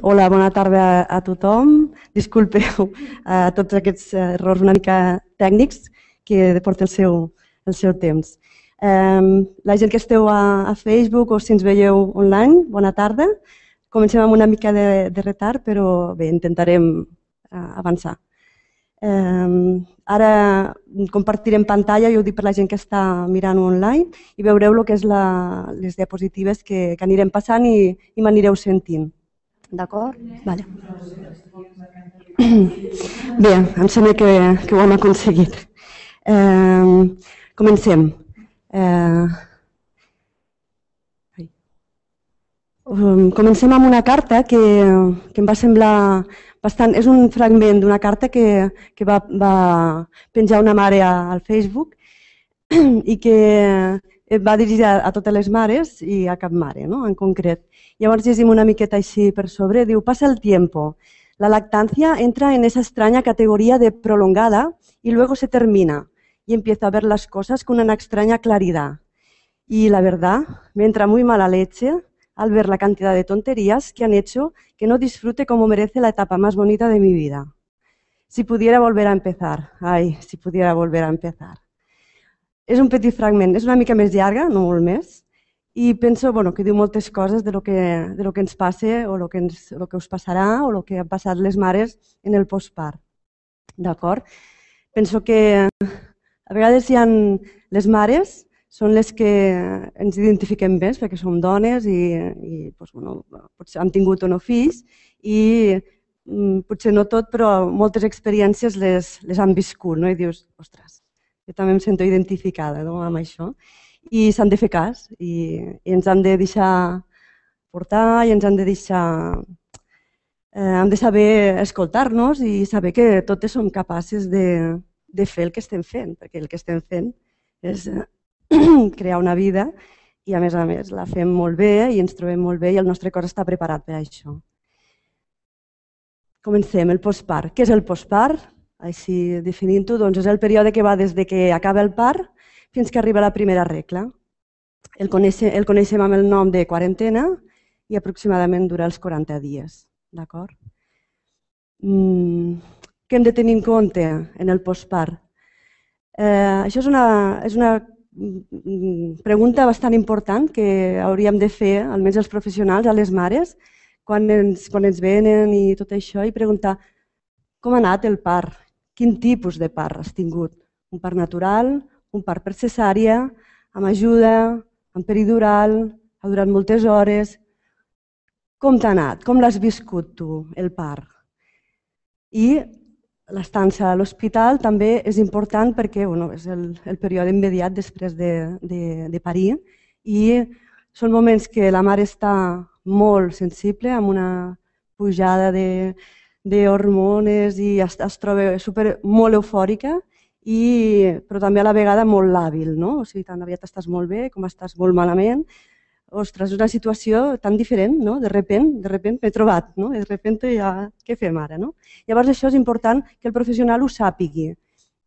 Hola, bona tarda a tothom. Disculpeu a tots aquests errors una mica tècnics que porta el seu temps. La gent que esteu a Facebook o si ens veieu online, bona tarda. Comencem amb una mica de retard, però bé, intentarem avançar. Ara compartirem pantalla, jo ho dic per la gent que està mirant online, i veureu el que és les diapositives que anirem passant i m'anireu sentint. D'acord? Vale. Bé, em sembla que ho hem aconseguit. Comencem. Comencem amb una carta que em va semblar bastant... És un fragment d'una carta que va penjar una mare al Facebook i que va dirigida a totes les mares i a cap mare, no? En concret. Llavors llegim una miqueta així per sobre. Diu, pasa el tiempo. La lactancia entra en esa extraña categoría de prolongada y luego se termina y empiezo a ver las cosas con una extraña claridad. Y la verdad, me entra muy mala leche al ver la cantidad de tonterías que han hecho que no disfrute como merece la etapa más bonita de mi vida. Si pudiera volver a empezar. Ai, si pudiera volver a empezar. És un petit fragment, és una mica més llarga, no molt més, i penso que diu moltes coses de lo que ens passa o el que us passarà o el que han passat les mares en el postpart. D'acord? Penso que a vegades les mares són les que ens identifiquem més perquè som dones i potser han tingut o no fills i potser no tot, però moltes experiències les han viscut, no? I dius, ostres, jo també em sento identificada amb això. I s'han de fer cas i ens han de deixar portar i ens han de deixar... Hem de saber escoltar-nos i saber que totes som capaces de fer el que estem fent, perquè el que estem fent és crear una vida i a més la fem molt bé i ens trobem molt bé i el nostre cos està preparat per a això. Comencem, el postpart. Què és el postpart? Així definint-ho, doncs és el període que va des que acaba el part fins que arriba la primera regla. El coneixem amb el nom de quarantena i aproximadament dura els 40 dies. D'acord? Què hem de tenir en compte en el postpart? Això és una pregunta bastant important que hauríem de fer, almenys els professionals, a les mares, quan ens venen i tot això, i preguntar com ha anat el part, quin tipus de part has tingut, un part natural, un part per cesària, amb ajuda, amb peridural, ha durat moltes hores. Com t'ha anat? Com l'has viscut tu, el part? I l'estança a l'hospital també és important perquè és el període immediat després de parir i són moments que la mare està molt sensible, amb una pujada d'hormones i es troba molt eufòrica, però també a la vegada molt làbil, no? O sigui, tan aviat estàs molt bé com estàs molt malament. Ostres, és una situació tan diferent, no? De repent m'he trobat, no? De repent ja, què fem ara, no? Llavors això és important que el professional ho sàpigui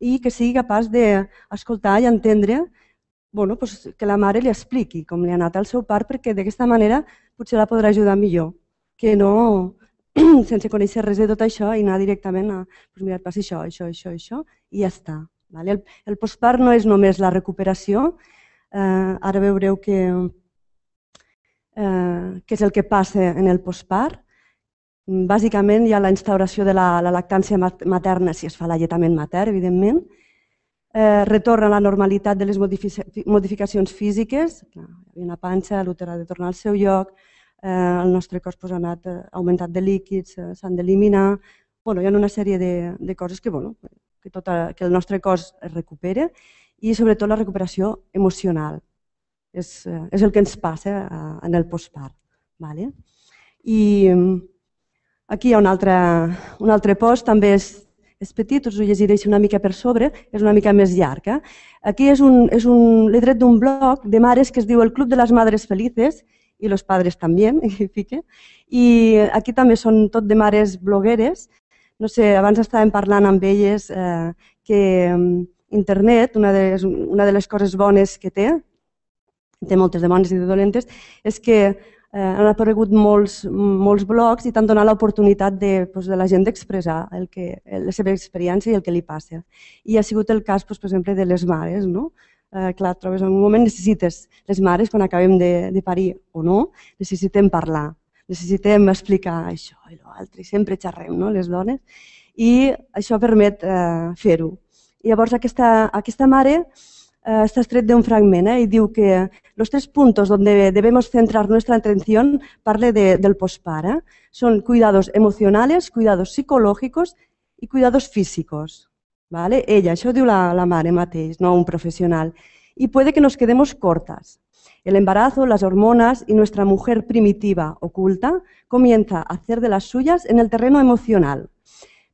i que sigui capaç d'escoltar i entendre que la mare li expliqui com li ha anat el seu part perquè d'aquesta manera potser la podrà ajudar millor que no sense conèixer res de tot això i anar directament a mira, et passa això i ja està. El postpart no és només la recuperació, ara veureu què és el que passa en el postpart. Bàsicament hi ha la instauració de la lactància materna, si es fa l'alletament matern, evidentment, retorna a la normalitat de les modificacions físiques, una panxa, l'úter ha de tornar al seu lloc, el nostre cos ha anat augmentat de líquids, s'han d'eliminar, hi ha una sèrie de coses que el nostre cos es recupera i sobretot la recuperació emocional. És el que ens passa en el postpart. I aquí hi ha un altre post, també és petit, us ho llegiré una mica per sobre, és una mica més llarg. Aquí l'he tret d'un blog de mares que es diu El Club de les Madres Felices i los padres també, i aquí també són tot de mares blogueres. No sé, abans estàvem parlant amb elles que internet, una de les coses bones que té moltes de bones i de dolentes, és que han aparegut molts blogs i t'han donat l'oportunitat de la gent d'expressar la seva experiència i el que li passa. I ha sigut el cas, per exemple, de les mares. Clar, trobes en un moment, necessites, les mares, quan acabem de parir o no, necessitem parlar, necessitem explicar això i l'altre, i sempre xerrem, les dones, i això permet fer-ho. I llavors aquesta mare está extret de un fragment y diu que los 3 puntos donde debemos centrar nuestra atención, parle del postpart, son cuidados emocionales, cuidados psicológicos y cuidados físicos. ¿Vale? Ella, això diu la mare mateix, no un profesional. Y puede que nos quedemos cortas. El embarazo, las hormonas y nuestra mujer primitiva oculta comienza a hacer de las suyas en el terreno emocional.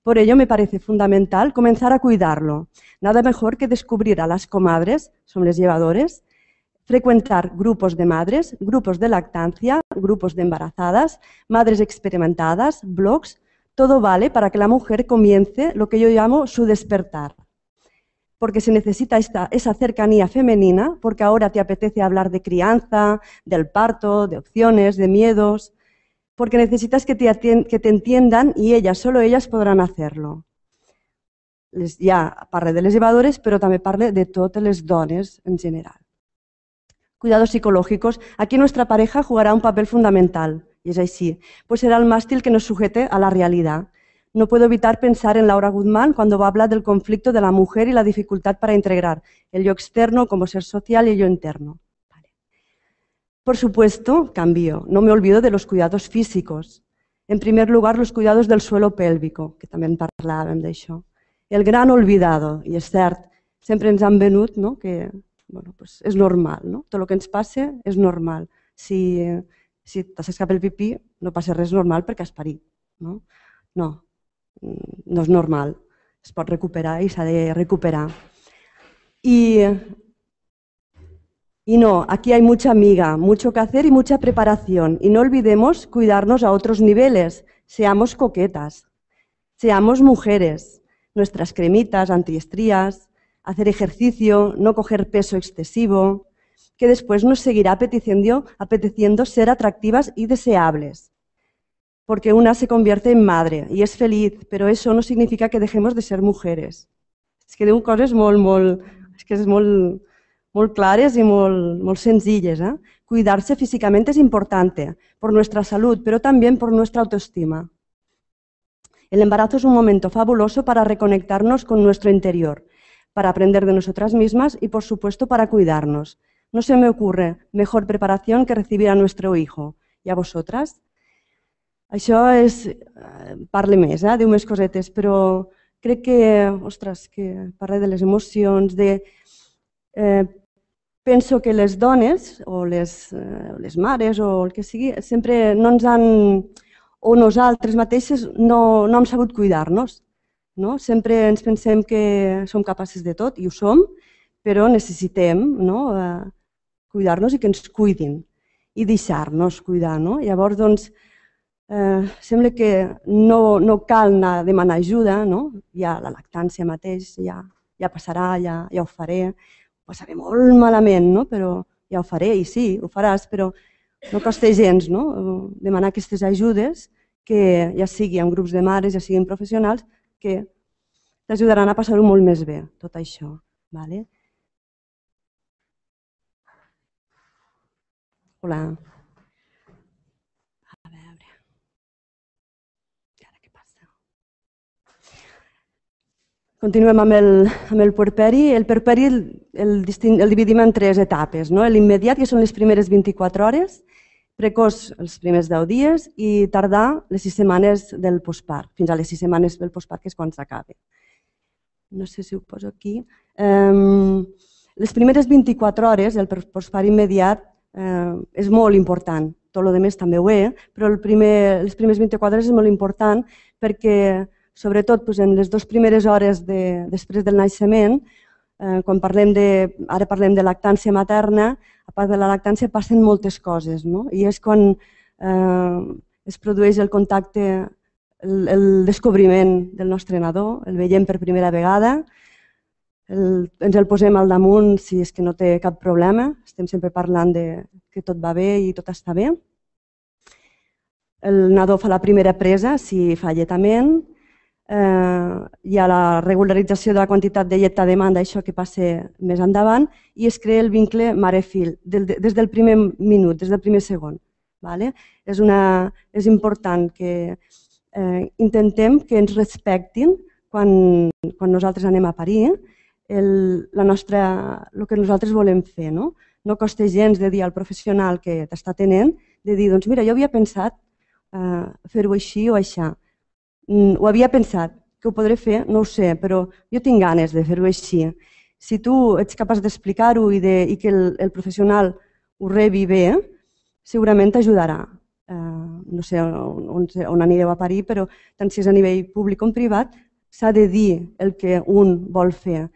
Por ello me parece fundamental comenzar a cuidarlo. Nada mejor que descubrir a las comadres, son les llevadores, frecuentar grupos de madres, grupos de lactancia, grupos de embarazadas, madres experimentadas, blogs. Todo vale para que la mujer comience lo que yo llamo su despertar. Porque se necesita esa cercanía femenina, porque ahora te apetece hablar de crianza, del parto, de opciones, de miedos, porque necesitas que te entiendan y solo ellas podrán hacerlo. Ja parle de les llevadores, però també parle de totes les dones en general. Cuidados psicológicos. Aquí nuestra pareja jugará un papel fundamental, y es así, pues será el mástil que nos sujete a la realidad. No puedo evitar pensar en Laura Guzmán cuando va a hablar del conflicto de la mujer y la dificultad para integrar el yo externo como ser social y el yo interno. Por supuesto, cambio, no me olvido de los cuidados físicos. En primer lugar, los cuidados del suelo pélvico, que també en parlàvem d'això. El gran olvidado, i és cert, sempre ens han venut que és normal, tot el que ens passa és normal. Si t'escapa el pipí, no passa res normal perquè has parit. No és normal, es pot recuperar i s'ha de recuperar. Y no, aquí hay mucha miga, mucho que hacer y mucha preparación. Y no olvidemos cuidarnos a otros niveles. Seamos coquetas, seamos mujeres. Nuestras cremitas, antiestrías, hacer ejercicio, no coger peso excesivo, que después nos seguirá apeteciendo ser atractivas y deseables. Porque una se convierte en madre y es feliz, pero eso no significa que dejemos de ser mujeres. És que diu coses molt clares y muy sencillas. Cuidarse físicamente es importante por nuestra salud, pero también por nuestra autoestima. El embarazo es un momento fabuloso para reconectarnos con nuestro interior, para aprender de nosotras mismas y, por supuesto, para cuidarnos. No se me ocurre mejor preparación que recibir a nuestro hijo. ¿Y a vosotras? Això parle més, diu més cosetes, però crec que parla de les emocions, penso que les dones, o les mares, o el que sigui, sempre no ens han, o nosaltres mateixes no hem sabut cuidar-nos. Sempre ens pensem que som capaces de tot, i ho som, però necessitem cuidar-nos i que ens cuidin, i deixar-nos cuidar. Llavors, doncs, sembla que no cal anar a demanar ajuda, ja la lactància mateix ja passarà, ja ho faré, ho passaré molt malament, però ja ho faré, i sí, ho faràs, però no costa gens demanar aquestes ajudes, que ja sigui en grups de mares, ja siguin professionals, que t'ajudaran a passar-ho molt més bé, tot això. Hola. A veure. I ara què passa? Continuem amb el puerperi. El puerperi el dividim en 3 etapes. L'immediat, que són les primeres 24 hores, precoç els primers 10 dies i tardà les 6 setmanes del postpart, fins a les 6 setmanes del postpart, que és quan s'acaba. No sé si ho poso aquí. Les primeres 24 hores, el postpart immediat, és molt important. Tot el rest també ho és, però les primeres 24 hores és molt important perquè, sobretot en les 2 primeres hores després del naixement, quan ara parlem de lactància materna, a part de la lactància passen moltes coses, i és quan es produeix el contacte, el descobriment del nostre nadó, el veiem per primera vegada, ens el posem al damunt si és que no té cap problema, estem sempre parlant que tot va bé i tot està bé, el nadó fa la primera presa si fa alletament, hi ha la regularització de la quantitat de llet a demanda, això que passa més endavant, i es crea el vincle mare-fill des del primer minut, des del primer segon. És important que intentem que ens respectin quan nosaltres anem a parir el que nosaltres volem fer. No costa gens de dir al professional que t'està atenent, de dir, doncs mira, jo havia pensat fer-ho així o aixà. Ho havia pensat, que ho podré fer, no ho sé, però jo tinc ganes de fer-ho així. Si tu ets capaç d'explicar-ho i que el professional ho rebi bé, segurament t'ajudarà. No sé on anireu a parir, però tant si és a nivell públic com privat, s'ha de dir el que un vol fer.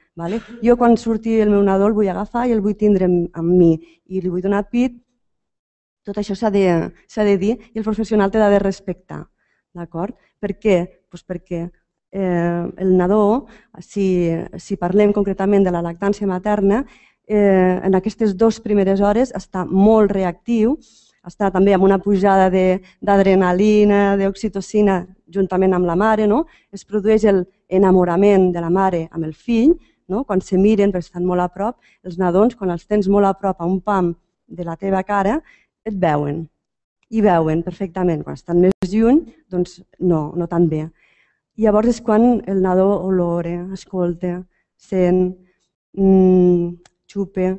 Jo quan surti el meu nadó el vull agafar i el vull tindre amb mi i li vull donar pit. Tot això s'ha de dir i el professional t'ha de respectar. Per què? Perquè el nadó, si parlem concretament de la lactància materna, en aquestes 2 primeres hores està molt reactiu, està també amb una pujada d'adrenalina, d'oxitocina juntament amb la mare, es produeix l'enamorament de la mare amb el fill, quan se miren perquè estan molt a prop, els nadons quan els tens molt a prop a un pam de la teva cara et veuen. I veuen perfectament. Quan estan més lluny, doncs no tan bé. Llavors és quan el nadó olora, escolta, sent, xupa,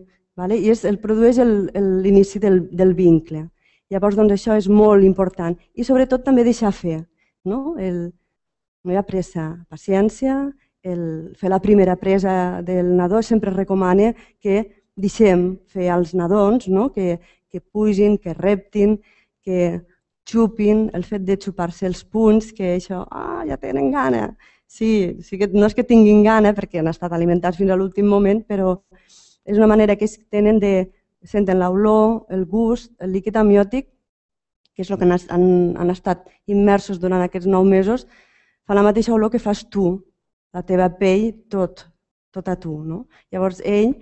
i produeix l'inici del vincle. Llavors això és molt important. I sobretot també deixar fer. No hi ha pressa, paciència, fer la primera presa del nadó sempre recomana que deixem fer als nadons, que pugin, que reptin, que xupin, el fet de xupar-se els punys, que això, ja tenen gana. Sí, no és que tinguin gana perquè han estat alimentats fins a l'últim moment, però és una manera que ells tenen de senten l'olor, el gust, el líquid amniòtic, que és el que han estat immersos durant aquests 9 mesos, fa la mateixa olor que fas tu, la teva pell, tot a tu. Llavors ell,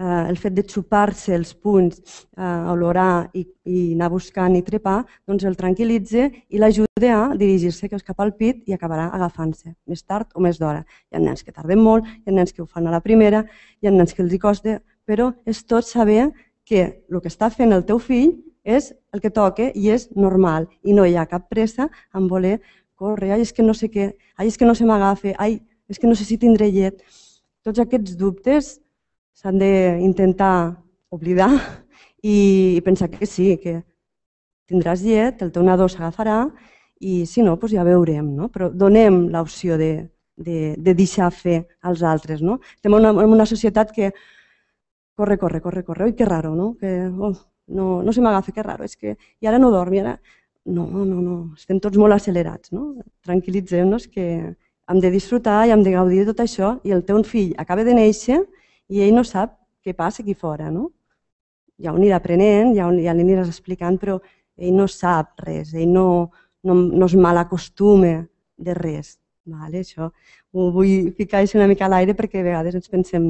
el fet de xupar-se els punys, olorar i anar buscant i trepar, doncs el tranquil·litza i l'ajuda a dirigir-se cap al pit i acabarà agafant-se, més tard o més d'hora. Hi ha nens que tarden molt, hi ha nens que ho fan a la primera, hi ha nens que els hi costa, però és tot saber que el que està fent el teu fill és el que toca i és normal i no hi ha cap pressa en voler córrer, és que no sé què, és que no se m'agafa, és que no sé si tindré llet. Tots aquests dubtes s'han d'intentar oblidar i pensar que sí, que tindràs llet, el teu nadó s'agafarà i si no, ja veurem. Però donem l'opció de deixar fer als altres. Estem en una societat que corre, oi, que raro, no se m'agafa, que raro, i ara no dorm, i ara... No, estem tots molt accelerats. Tranquil·litzem-nos que hem de disfrutar i hem de gaudir de tot això i el teu fill acaba de néixer i ell no sap què passa aquí fora. Ja ho anirà aprenent, ja li aniràs explicant, però ell no sap res, ell no es malacostuma de res. Això ho vull ficar una mica a l'aire perquè a vegades ens pensem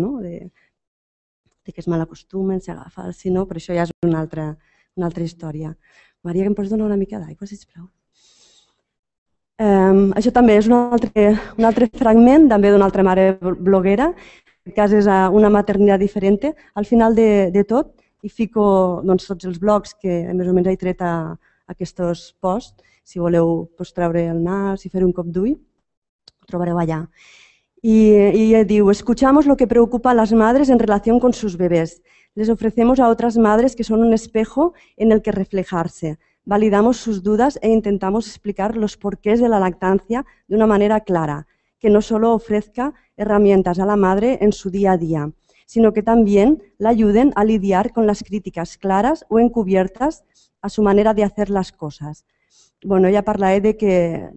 que es malacostumen, s'agafa, si no, però això ja és una altra història. Maria, que em pots donar una mica d'aigua, sisplau? Això també és un altre fragment, també d'una altra mare bloguera. En aquest cas és una maternitat diferent. Al final de tot hi fico tots els blogs que més o menys he tret a aquests posts. Si voleu treure el nas i fer un cop d'ull, ho trobareu allà. Y digo, escuchamos lo que preocupa a las madres en relación con sus bebés. Les ofrecemos a otras madres que son un espejo en el que reflejarse. Validamos sus dudas e intentamos explicar los porqués de la lactancia de una manera clara, que no solo ofrezca herramientas a la madre en su día a día, sino que también la ayuden a lidiar con las críticas claras o encubiertas a su manera de hacer las cosas. Ja parlaré de que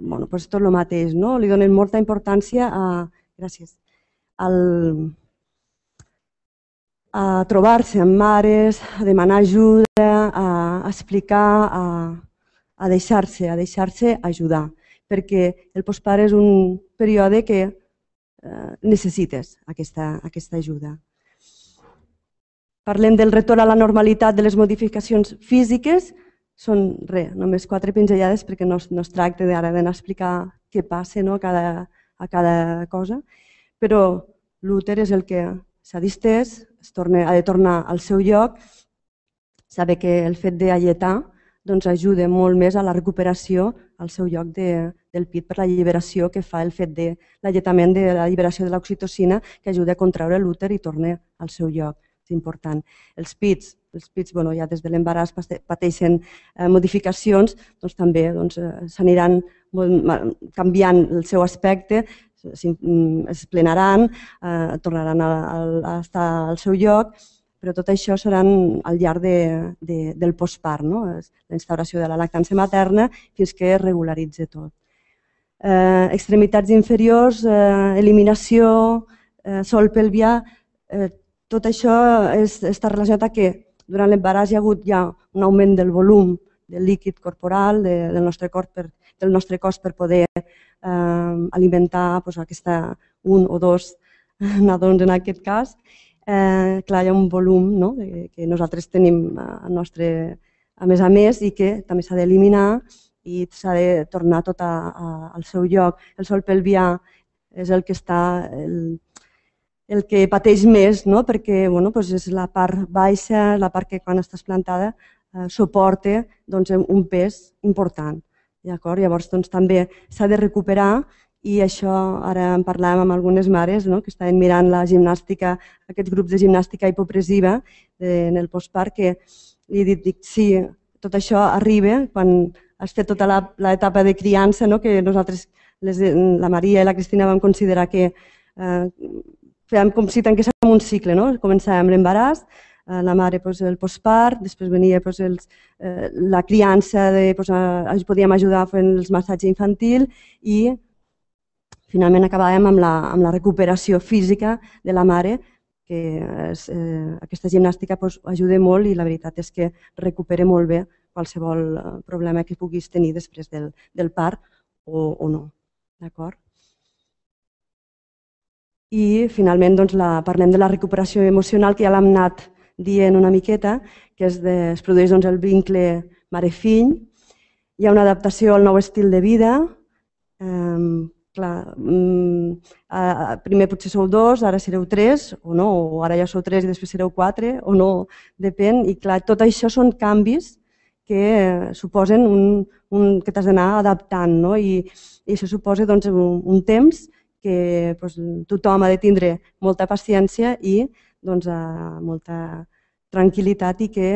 tot el mateix, li donen molta importància a trobar-se amb mares, a demanar ajuda, a explicar, a deixar-se ajudar, perquè el postpart és un període que necessites aquesta ajuda. Parlem del retorn a la normalitat de les modificacions físiques, Són només 4 pinzellades perquè no es tracta ara d'anar a explicar què passa a cada cosa, però l'úter és el que s'ha distès, ha de tornar al seu lloc, saber que el fet d'alletar ajuda molt més a la recuperació al seu lloc del pit per la alliberació que fa el fet de l'alletament de la lliberació de l'oxitocina que ajuda a contraure l'úter i torna al seu lloc. És important. Els pits ja des de l'embaràs pateixen modificacions, també s'aniran canviant el seu aspecte, es plenaran, tornaran a estar al seu lloc, però tot això serà al llarg del postpart, la instauració de la lactància materna fins que es regularitzi tot. Extremitats inferiors, eliminació, sòl pelvià, tot això està relacionat a que durant l'embaràs hi ha hagut ja un augment del volum del líquid corporal del nostre cos per poder alimentar un o dos nadons en aquest cas. Clar, hi ha un volum que nosaltres tenim a més i que també s'ha d'eliminar i s'ha de tornar tot al seu lloc. El sòl pelvià és el que està el que pateix més, perquè és la part baixa, la part que quan estàs plantada suporta un pes important. Llavors també s'ha de recuperar i això ara en parlàvem amb algunes mares que estaven mirant la gimnàstica, aquests grups de gimnàstica hipopressiva en el postpart, que li he dit, sí, tot això arriba quan has fet tota l'etapa de criança, que nosaltres, la Maria i la Cristina, vam considerar que fèiem com si tanquéssim un cicle, començàvem l'embaràs, la mare el postpart, després venia la criança, podíem ajudar fent els massatges infantil i finalment acabàvem amb la recuperació física de la mare, que aquesta gimnàstica ajuda molt i la veritat és que recupera molt bé qualsevol problema que puguis tenir després del part o no. D'acord? I finalment parlem de la recuperació emocional, que ja l'hem anat dient una miqueta, que es produeix el vincle mare-fill. Hi ha una adaptació al nou estil de vida. Primer potser sou 2, ara sereu 3, o no, o ara ja sou 3 i després sereu 4, o no, depèn. I clar, tot això són canvis que suposen que t'has d'anar adaptant, i això suposa un temps que tothom ha de tindre molta paciència i molta tranquil·litat i que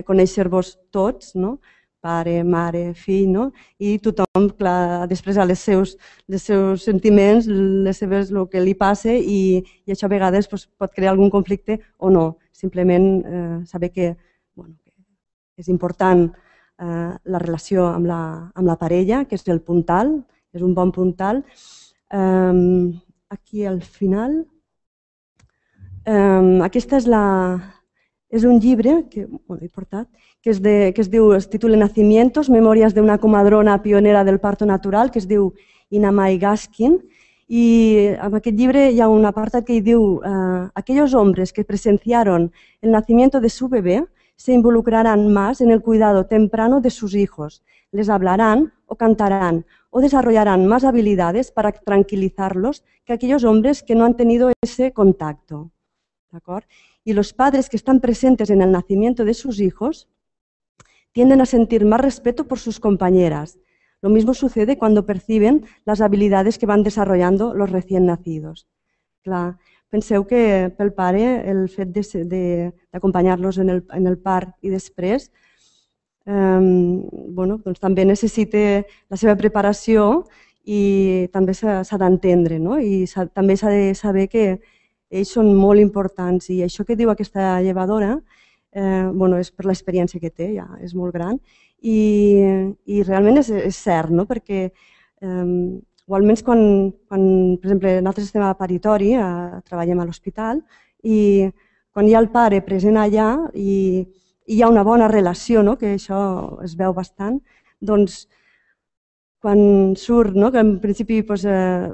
conèixer-vos tots, pare, mare, fill, i tothom ha d'expressar els seus sentiments, el que li passa i això a vegades pot crear algun conflicte o no. Simplement saber que és important la relació amb la parella, que és el puntal, és un bon puntal. Aquí al final, aquest és un llibre que he portat, que es titula Nacimientos, memòries d'una comadrona pionera del parto natural, que es diu Ina May Gaskin, y en aquest llibre hi ha un apartat que diu aquellos hombres que presenciaron el nacimiento de su bebé se involucrarán más en el cuidado temprano de sus hijos, les hablarán o cantarán o desarrollarán más habilidades para tranquilizarlos que aquellos hombres que no han tenido ese contacto. Y los padres que están presentes en el nacimiento de sus hijos tienden a sentir más respeto por sus compañeras. Lo mismo sucede cuando perciben las habilidades que van desarrollando los recién nacidos. Clar, penseu que pel pare el fet d'acompanyar-los en el part i després també necessita la seva preparació i també s'ha d'entendre, i també s'ha de saber que ells són molt importants i això que diu aquesta llevadora és per l'experiència que té, ja és molt gran i realment és cert, perquè o almenys quan, per exemple, nosaltres estem a paritori, treballem a l'hospital i quan hi ha el pare present allà i hi ha una bona relació, que això es veu bastant, doncs quan surt, que en principi,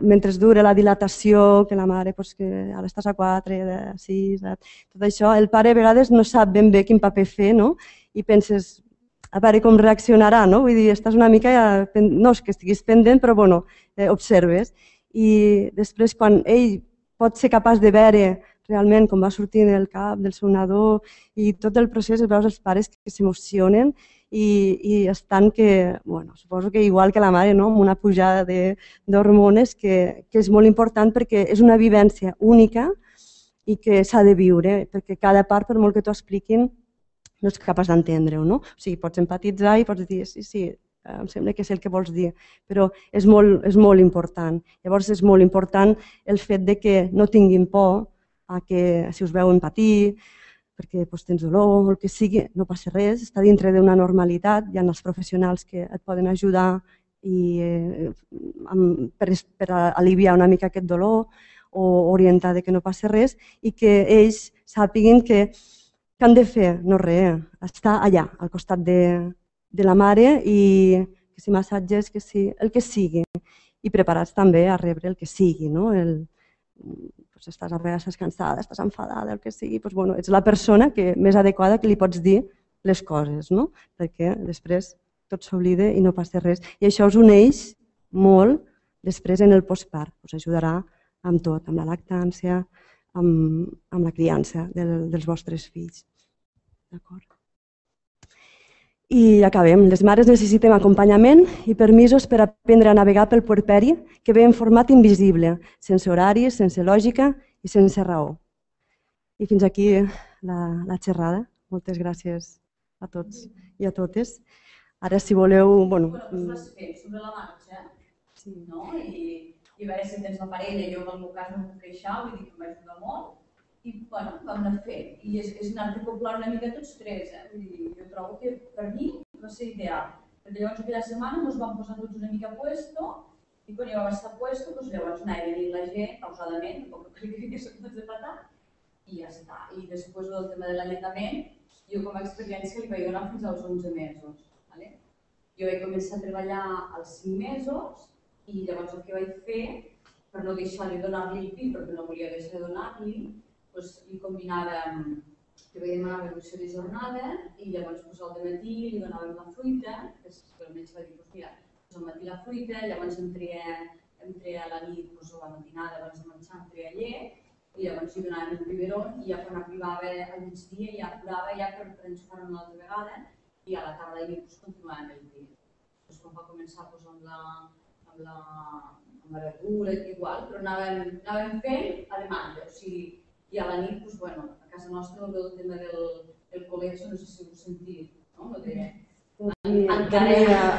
mentre dura la dilatació, que la mare, que ara estàs a 4, a 6, tot això, el pare a vegades no sap ben bé quin paper fer, i penses, a veure com reaccionarà, vull dir, estàs una mica, no és que estiguis pendent, però bueno, observes. I després, quan ell pot ser capaç de veure realment com va sortint el cap del seu nadó i tot el procés, veus els pares que s'emocionen i estan que, suposo que igual que la mare, amb una pujada d'hormones que és molt important perquè és una vivència única i que s'ha de viure, perquè cada part, per molt que t'ho expliquin, no ets capaç d'entendre-ho, no? O sigui, pots empatitzar i pots dir, sí, em sembla que és el que vols dir, però és molt important. Llavors és molt important el fet de que no tinguin por a que si us veuen patir, perquè tens dolor o el que sigui, no passa res, està dintre d'una normalitat, hi ha els professionals que et poden ajudar per aliviar una mica aquest dolor o orientar que no passa res i que ells sàpiguen que han de fer? No res, estar allà, al costat de la mare i que si massatges, que si el que sigui i preparats també a rebre el que sigui, no? Estàs a vegades cansada, estàs enfadada, el que sigui, ets la persona més adequada que li pots dir les coses, perquè després tot s'oblida i no passa res. I això us uneix molt després en el postpart, us ajudarà amb tot, amb la lactància, amb la criança dels vostres fills. D'acord? I acabem. Les mares necessitem acompanyament i permisos per aprendre a navegar pel puerperi que ve en format invisible, sense horaris, sense lògica i sense raó. I fins aquí la xerrada. Moltes gràcies a tots i a totes. Ara, si voleu... Bueno, tu vas fent sobre la marxa, no? I a veure si tens la parella, jo en el meu cas no em puc queixar, vull dir que m'ajuda molt. I vam anar fent, i és anar d'acoplar una mica tots tres. Jo trobo que per mi va ser ideal, perquè llavors aquella setmana ens vam posar tots una mica a puesto i quan ja vam estar a puesto, llavors anava venint la gent pausadament, tampoc crec que fiqués tots de patar, i ja està. I després del tema de l'alletament, jo com a experiència li vaig donar fins als 11 mesos. Jo vaig començar a treballar als 5 mesos i llavors el que vaig fer, per no deixar de donar-li el pit, perquè no volia deixar de donar-li, li combinàvem, li vaig demanar reducció de jornada i llavors al matí li donàvem la fruita, que el metge va dir, mira, al matí la fruita, llavors entre a la nit, a la matinada, abans de menjar, entre a llet, i llavors li donàvem el biberon i ja quan arribava al migdia ja plorava ja per enxufar-ho una altra vegada i a la tarda i nit continuàvem el pit. Quan va començar amb la verdura, igual, però anàvem fent a demanda, o sigui, i a la nit, a casa nostra, el tema del col·legi, no sé si ho heu sentit, no?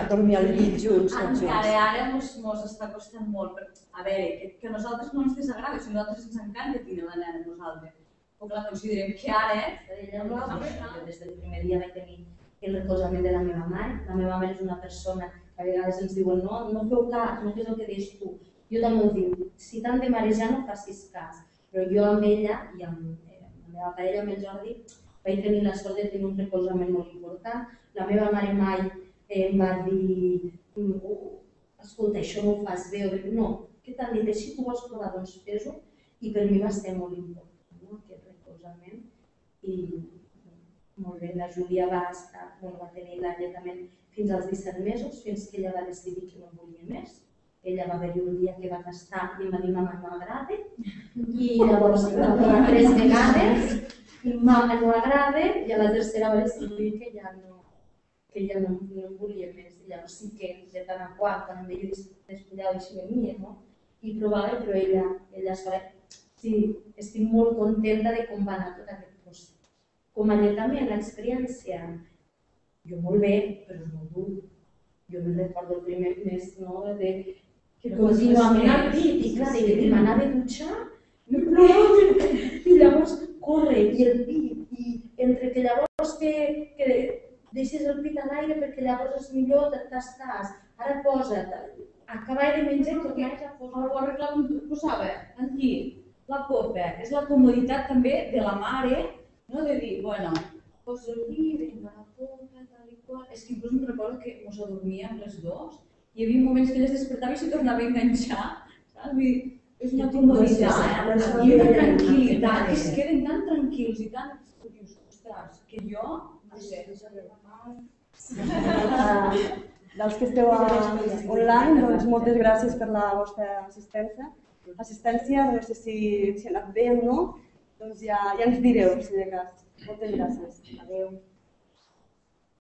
Dormir al llit junts. Encara ara ens està costant molt. A veure, que a nosaltres no ens desagrada, si a nosaltres ens encanta tenir la nena amb nosaltres. Però clar, considerem que ara... Jo des del primer dia vaig tenir el recolzament de la meva mare. La meva mare és una persona que a vegades ens diuen no feu cas, no fes el que dius tu. Jo també ho dic, si t'han de marejar no facis cas. Però jo amb ella i amb la meva parella, amb el Jordi, vaig tenir la sort de tenir un recolzament molt important. La meva mare mai em va dir escolta, això no ho fas bé, no, què t'han dit així, tu vols provar, doncs fes-ho, i per mi va ser molt important aquest recolzament. I molt bé, la Júlia va tenir l'alletament fins als 17 mesos, fins que ella va decidir que no volia més. Ella va haver-hi un dia que va tastar i em va dir mama no agrada i llavors va provar 3 vegades i mama no agrada i a la tercera va decidir que ja no volia més. I llavors sí que de tant a quart, quan em veia despullada així venia, i provava, però ella sola. Sí, estic molt contenta de com va anar tot aquest procés. Com a alletament, l'experiència, jo molt bé, però és molt dur. Jo me'n recordo el primer mes, que contínuament al pit, i clar, m'anava a dutxar, i llavors corre, i el pit, i entre que llavors que deixes el pit a l'aire perquè llavors és millor, t'estàs, ara posa't, acabar de menjar i tornaves a posar. Ho arreglàvem, posava aquí, la copa, és la comoditat també de la mare, de dir, posa aquí, vinga la copa, tal i qual. És que inclús em recordo que ens adormíem les dues hi havia moments que ella es despertava i s'hi tornava a enganxar, saps? Vull dir, és una comoditat i una tranquil·litat, que es queden tan tranquils i tan... Dius, ostres, que jo... No sé, dels que esteu online, doncs moltes gràcies per la vostra assistència. No sé si ha anat bé o no, doncs ja ens direu, si de cas. Moltes gràcies. Adéu.